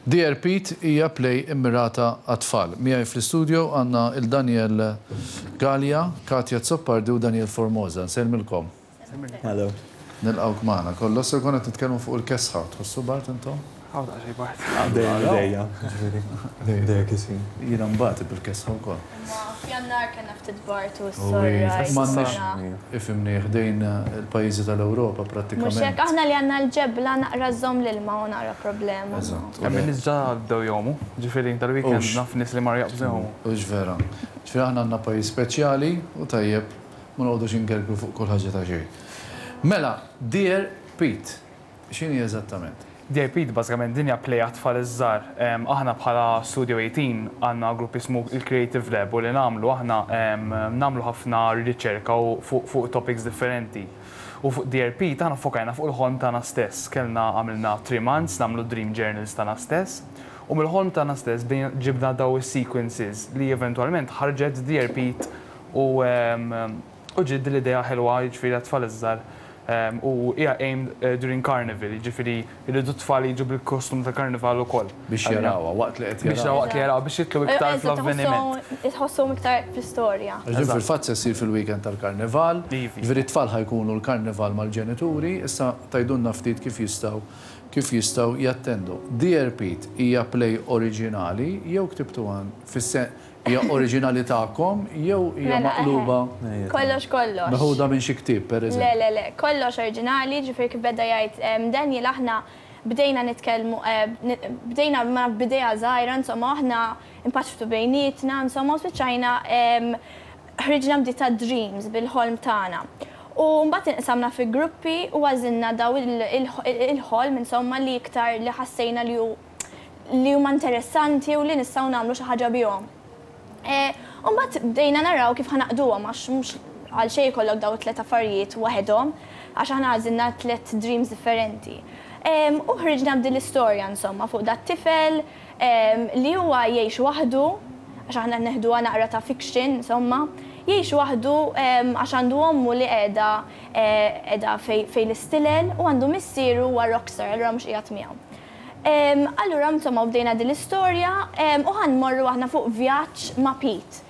Dear Pete hija play immirata għat-tfal. Miegħi fl-istudio għandna 'l Daniel Galea, Katia Azzopardi u Daniel Formosa. Nsellmilkom. Hello. Nilqgħuk magħna. Kollox se nkunu qed nitkellmu fuq il-kesħa. Tħossu bard intom? Hawn daqsxejn bard. Dejjem idejja, ġifieri. Dejjem kisin. Jiena nbati bil-kesħa wkoll. Imma f'Jannar kellna ftit bard u s-sorra. M'għandniex, ifhimni, ħdejn il-pajjiżi tal-Ewropa prattikament. Mhux hekk, aħna li għandna l-ġebla naqra żżomm l-ilma u naqra problema. Eżatt. Hemm in-nies ġa bdew jgħumu, ġifieri dal-weekend naf nies li marru jaqbżu jgħumu. Hux vera. Ġifieri aħna għandna pajjiż speċjali u tajjeb ma noqogħdux ingergru fuq kull ħaġa ta' xejn. Mela, Dear Pete, x'inhi eżattament? Dear Pete bażikament din hija play għat-tfal iż-żgħar. Aħna bħala Studio 18 għandna grupp jismu il-Creative Lab u li nagħmlu aħna nagħmlu ħafna riċerka u fuq topics differenti. U fuq Dear Pete aħna ffokajna fuq il-ħolm tagħna stess. Kellna għamilna 3 months nagħmlu dream journals tagħna stess u mill-ħolm tagħna stess bdejna ġibna daw is-sequences li eventwalment ħarġet Dear Pete U u ġiet din l-idea ħelwa jiġifieri għat-tfal iż-żgħar u hija aimed during carnival, jiġifieri jridu t-tfal jiġu bil-kostum tal-karnival ukoll. Biex jarawha waqt li qed jarawha. Biex jarawha waqt li jarawha biex jidħlu iktar fl-avveniment. Iħossuhom iktar fl-istorja. Għax din fil-fatt se ssir fil-weekend tal-karnival. Jiġifieri t-tfal ħa jkunu l-karnival mal-ġenituri, issa tgħidulna ftit kif jistgħu kif jistgħu jattendu. Dear Pete hija play oriġinali jew ktibtuha fis-sen Hija oriġinali tagħkom jew hija maqluba? Kollox kollox. Meħuda minn xi ktieb, pereżempju? Le, le, le. Kollox oriġinali, ġifieri kif beda jgħid Daniel aħna bdejna nitkellmu, bdejna ma b'idea żgħira, insomma, u aħna npaċċtu bejnietna, insomma, u spiċċajna ħriġna b'di ta' dreams, bil-ħolm tagħna. U mbagħad inqsamna fi gruppi u għażilna daw il-ħolm, insomma, li iktar li ħassejna li hu li huma interessanti u li nistgħu nagħmlu xi ħaġa bihom. U mbagħad bdejna naraw kif ħa naqduhom għax mhux għal xejn ikollok dawn it-tliet affarijiet waħedhom għax aħna għażilna tliet dreams differenti. U ħriġna b'din l-istorja insomma fuq dat-tifel li huwa jgħix waħdu għax aħna qed neħduha naqra ta' fiction insomma, jgħix waħdu għax għandu ommu li qiegħda qiegħda fejn l-istilel u għandu missieru huwa rockstar allura mhux qiegħed miegħu. Allura insomma bdejna din l-istorja u ħa nmorru aħna fuq vjaġġ ma' Pete.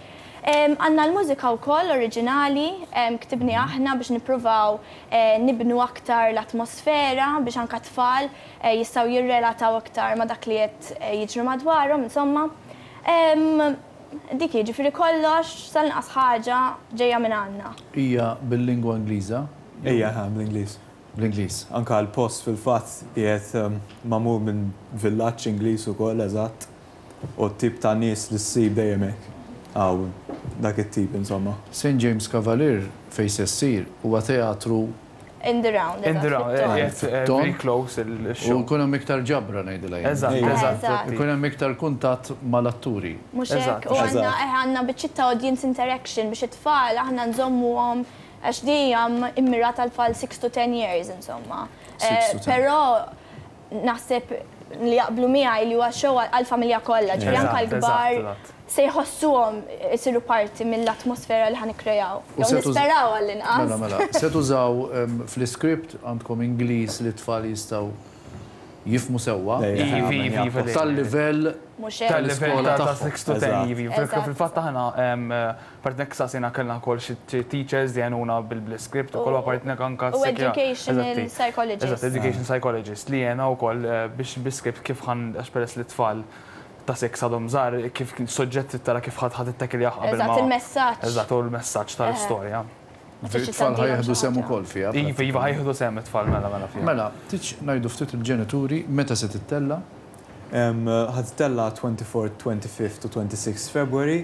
Għandna l-mużika wkoll oriġinali, ktibniha aħna biex nippruvaw nibnu aktar l-atmosfera biex anke t-tfal jistgħu jirrelataw iktar ma' dak li qed jiġri madwarhom insomma. Dik hi, ġifieri kollox sal-inqas ħaġa ġejja minn għandna. Hija bil-lingwa Ingliża? Hija, bl-Ingliż. Bl-Ingliż. Anke l-post fil-fatt qiegħed magħmul minn villaġġ Ingliż ukoll eżatt u t-tip ta' nies li ssib dejjem hekk hawn dak it-tip insomma. St James Cavalier fejn se ssir huwa teatru In the round, In the eżatt, round, fit-tond. qiegħed very close il-show. U jkun hemm iktar ġabra ngħidilha jien. Eżatt, eżatt. Ikun hemm iktar kuntatt mal-atturi. Mhux hekk? U għandna għandna biċċiet ta' audience interaction biex it-tfal aħna nżommuhom Għax di hija mmirata għal tfal 6 to 10 years insomma. Però naħseb li jaqblu miegħi li huwa show għall-familja kollha, ġifieri anke l-kbar se jħossuhom isiru parti mill-atmosfera li ħa nikkreaw. Jew nisperaw għall-inqas. Mela, mela. Se tużaw fl-iscript għandkom Ingliż li t-tfal jistgħu jifhmu sewwa. Tal-livell tal-iskola ta' 6 to 10 ivi. Fil-fatt aħna Apparti hekk saqsejna kellna wkoll xi teachers li għenuna bl-iscript ukoll u apparti hekk anke U educational psychologist. Eżatt, education psychologist li għena wkoll biex bl-iscript kif ħa għax peress li t-tfal ta' six għadhom żgħar kif soġġett trid tara kif ħa tittekilja qabel ma. Eżatt, il-messaġġ. Eżatt, u l-messaġġ tal-istorja. It-tfal ħa jieħdu sehem ukoll fiha. Iva, iva ħa jieħdu sehem it-tfal mela mela fiha. Mela, tridx ngħidu ftit il-ġenituri meta se tittella'? Ħa tittella' 24th, 25th u 26th February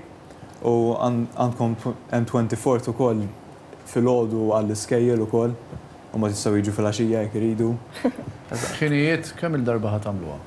u għandkom hemm 24th ukoll filgħodu għall-iskejjel ukoll u mbagħad jistgħu jiġu filgħaxija jekk iridu. Ħinijiet kemm-il darba ħa tagħmluha?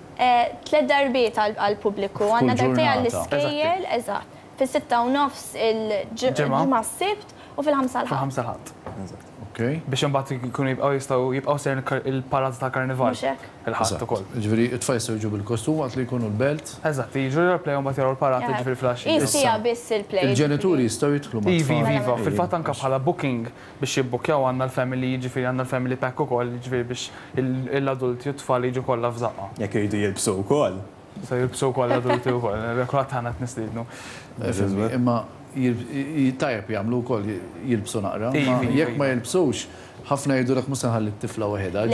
Tliet darbiet għall-pubbliku. Għandna darbtejn għall-iskejjel, eżatt. Fis-sitta u nofs il-Ġimgħa s-Sibt u fil-ħamsa l-Ħadd. Fil-ħamsa l-Ħadd. Eżatt. Okej. Biex imbagħad jkunu jibqgħu jistgħu jibqgħu sejrin il-parata tal-Karnival. Mhux hekk? Il-Ħadd ukoll. Jiġifieri t-tfal jistgħu jiġu bil-kostum waqt li jkunu l-belt. Eżatt, jiġu jaraw il-play u mbagħad jaraw l-parata jiġifieri filgħaxija. Hi siegħa biss il-play. Il-ġenituri jistgħu jidħlu mat-tfal. Iva, iva, iva. Fil-fatt anke bħala booking biex jibbukkjaw għandna l-family, jiġifieri għandna l-family pack ukoll, jiġifieri biex l-adulti u t-tfal jiġu kollha f'daqqa. Jekk iridu jilbsu wkoll. Jistgħu jilbsu wkoll l-adulti wkoll, kulħadd aħna qed nistiednu. Fimni, imma tajjeb jagħmlu wkoll jilbsu naqra. Jekk ma jilbsux, ħafna jgħidulek mhux se nħalli t-tifla waħedha.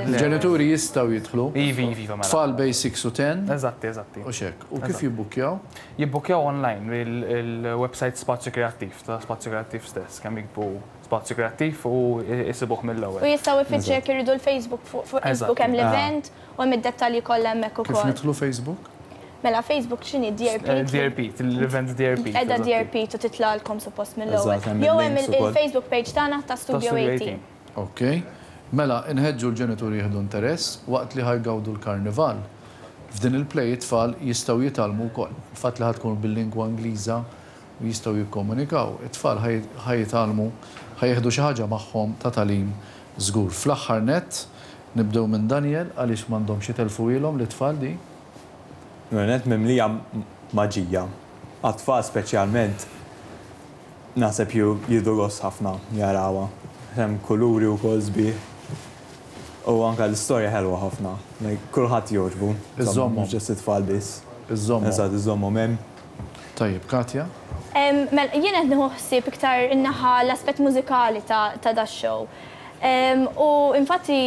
Il-ġenituri jistgħu jidħlu. Iva, iva, iva, mela. Tfal bejn 6 u 10. Eżatti, eżatti. U x'hekk. U kif jibbukkjaw? Jibbukkjaw online il-website Spazju Kreattiv, ta' Spazju Kreattiv stess, kemm jiktbu Spazju Kreattiv u jsibuh mill-ewwel. U jistgħu jfittxu jekk iridu l-Facebook, fuq Facebook hemm l-event u hemm id-dettalji kollha hemmhekk ukoll. Kif nidħlu Facebook? Mela Facebook x'inhi Dear Pete? Dear Pete, l-event Dear Pete. Qiegħda Dear Pete u titlagħlkom suppost mill-ewwel. Jew hemm il-Facebook page tagħna ta' Studio 18. Ok. Mela inħeġġu l-ġenituri jieħdu interess waqt li ħa jgawdu l-karnival. F'din il-play it-tfal jistgħu jitgħallmu wkoll. Il-fatt li ħa tkun bil-lingwa Ingliża u jistgħu jikkomunikaw, it-tfal ħa jitgħallmu, ħa jieħdu xi ħaġa magħhom ta' tagħlim żgur. Fl-aħħar nett, nibdew minn Daniel, għaliex m'għandhomx jitellfuhielhom lit-tfal di? L-ewwel nett mimlija maġija. Għat-tfal speċjalment naħseb jieħdu gost ħafna jarawha. Hemm kuluri wkoll sbieħ u anke l-istorja ħelwa ħafna. Like kulħadd jogħġbu. Iżżommhom. Mhux ġust it-tfal biss. Iżżommhom. Eżatt, iżżommhom hemm. Tajjeb, Katja? Mela, jien qed nieħu ħsieb iktar in-naħa l-aspett mużikali ta' dax-show. U infatti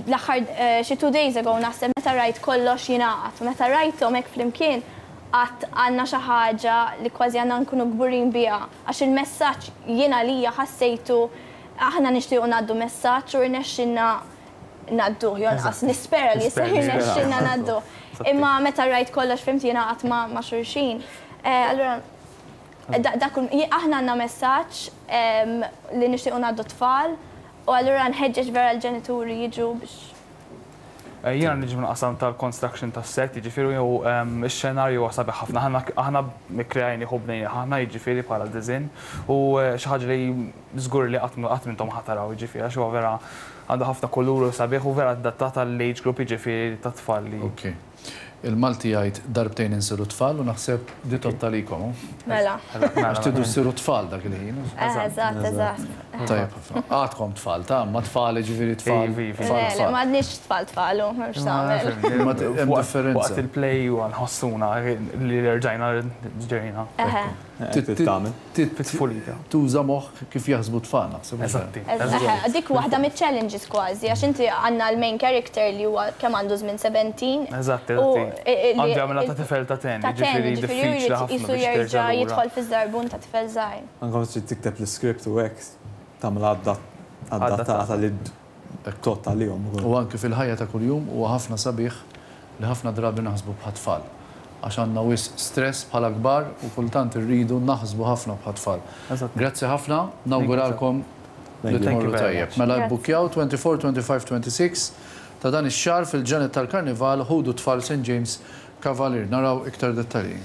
l-aħħar xi two days ago naħseb meta rajt kollox jingħaqad u meta rajthom hekk flimkien għedt għandna xi ħaġa li kważi għandna nkunu kburin biha għax il-messaġġ jien għalija ħassejtu aħna nixtiequ ngħaddu messaġġ u rnexxilna ngħadduh jew anqas nispera li se jirnexxilna ngħadduh. Imma meta rajt kollox fhimt jingħaqad ma' xulxin. Allura dak aħna għandna messaġġ li nixtiequ ngħaddu t-tfal u allura nħeġġeġ vera l-ġenituri jiġu biex. Jiena niġi mill-qasam tal-construction tas-set, jiġifieri u x-xenarju huwa sabiħ ħafna. Aħna aħna kkreajnih u bnejnih aħna, jiġifieri bħala disinn u xi ħaġa li żgur li qatt qatt m'intom ħa taraw, jiġifieri għax huwa vera għandu ħafna kulur u sabiħ u vera adattat għall-age group jiġifieri tat-tfal li. Ok. Il-Malti jgħid darbtejn insiru tfal u naħseb di tgħodd għalikom, hu? Mela. Għax tridu ssiru tfal dak il-ħin. Eżatt, eżatt. Tajjeb ħafna. Għadkom tfal, ta' imma tfal jiġifieri tfal. Le, le, m'għadniex tfal tfal, hu, m'hemmx x'tagħmel. Imma hemm differenza. Waqt il-play u nħossuna li rġajna ġejna. Eħe. Fit-tfulija. Tuża moħħ kif jaħsbu t-tfal naħseb. Eżatti. Dik waħda miċ-challenges kważi, għax inti għandna l-main character li huwa kemm għandu żmien 17. Eżatt, eżatti. Għandu jagħmilha ta' tifel ta' 10, jiġifieri diffiċli ħafna biex jerġa' jidħol fiż-żarbun ta' tifel żgħir. Anke meta trid tikteb l-iscript u hekk tagħmilha adattata li tgħodd għalihom ukoll. U anki fil-ħajja ta' kuljum huwa ħafna sabiħ li ħafna drabi naħsbu bħat-tfal. Għax għandna wisq stress bħala kbar u kultant irridu naħsbu ħafna bħat-tfal. Grazzi ħafna, nawguralkom li tmorru tajjeb. Mela ibbukkjaw 24, 25, 26 ta' dan ix-xahar fil-ġranet tal-Karnival ħudu t-tfal St James Cavalier. Naraw iktar dettalji.